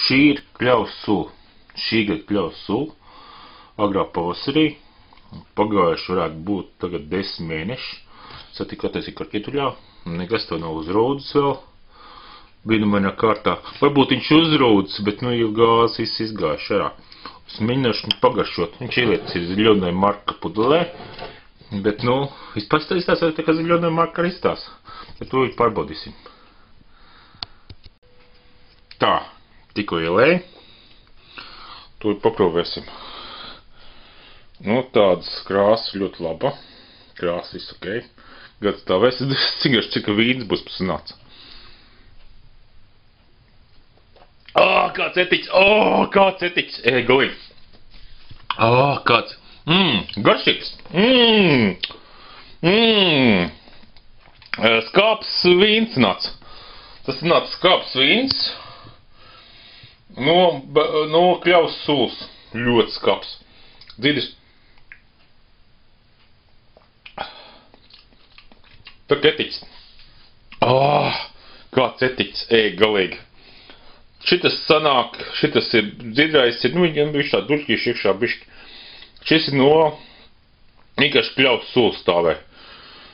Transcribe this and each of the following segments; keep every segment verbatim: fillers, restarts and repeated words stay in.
Šī ir kļavas sula. Šī gada kļavas sula. Agrā pavasarī. Pagājuši varētu būt tagad desmit mēneši. Satika attiecīgi karkituļā. Nekas to nav uzrūdis vēl. Brīnumainā kārtā. Varbūt viņš uzrūdis, bet nu jau gāzes viss izgājuši arā. Es mēģināšu viņu pagaršot. Viņš ielietas ir ziļonai marka pudelē. Bet nu, vispār izstāstās, ka ziļonai marka arī izstās. Bet to pārbaudīsim. Tā, tikko ielēju. To paprovēsim. Nu, tādas krāsas ļoti laba. Krāsas viss ok. Gads tā vēs, cik garš, cik vīns būs pasanāts. Ā, kāds etiķis, ā, kāds etiķis, ej, galīgi. Ā, kāds, mmm, garšīgs, mmm, mmm. Skāps vīns nāc. Tas nāc skāps vīns. No, no kļavas sulas. Ļoti skāps. Dzīdis. Tā etiķis. Ā, kāds etiķis, ej, galīgi. Šitas sanāk, šitas ir dzidrais, ir, nu, viņam bišķi tā duļķīši iekšā bišķi. Šis ir no vienkārši kļavas sulas stāvē.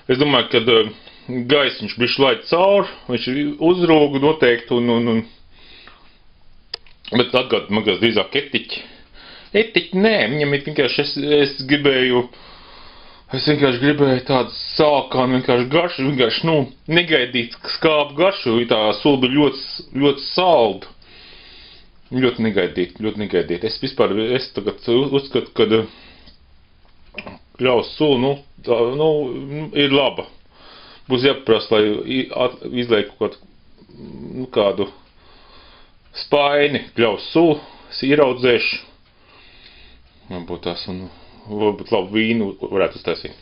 Es domāju, kad uh, gaisiņš bišķi laid cauri, viņš uzrūga noteikti un, un, un bet atgād magās drīzāk etiķi. Etiķi, nē, viņam ir vienkārši, es, es gribēju, es vienkārši gribēju tādu sākānu, vienkārši garšu, vienkārši, nu, negaidīt skāpu garšu, jo tā sula bija ļoti, ļoti salda. Ļoti negaidīt, ļoti negaidīt. Es vispār, es tagad uzskatu, ka kļavas sula, nu, tā, nu, ir laba. Būs jāpaprasa, lai izlaiku kaut nu, kādu spaini kļavas sulu, es ieraudzēšu. Man būtu tās un varbūt labu vīnu varētu uztaisīt.